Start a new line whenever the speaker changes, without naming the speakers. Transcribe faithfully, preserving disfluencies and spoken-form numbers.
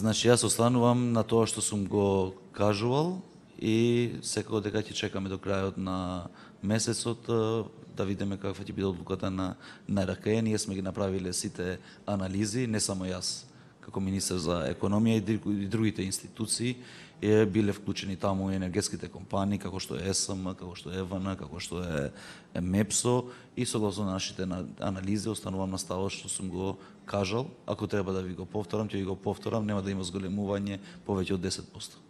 Значи, јас останувам на тоа што сум го кажувал и секако дека ќе чекаме до крајот на месецот да видиме каква ќе биде одлуката на на РК. Ние сме ги направиле сите анализи, не само јас како министер за економија и другите институции е биле вклучени таму и енергетските компании како што е ЕСМ, како што е ЕВН, како што е МЕПСО и согласно нашите анализи останувам на ставот што сум го кажал. Ако треба да ви го повторам, ќе ви го повторам, нема да има зголемување повеќе од десет проценти.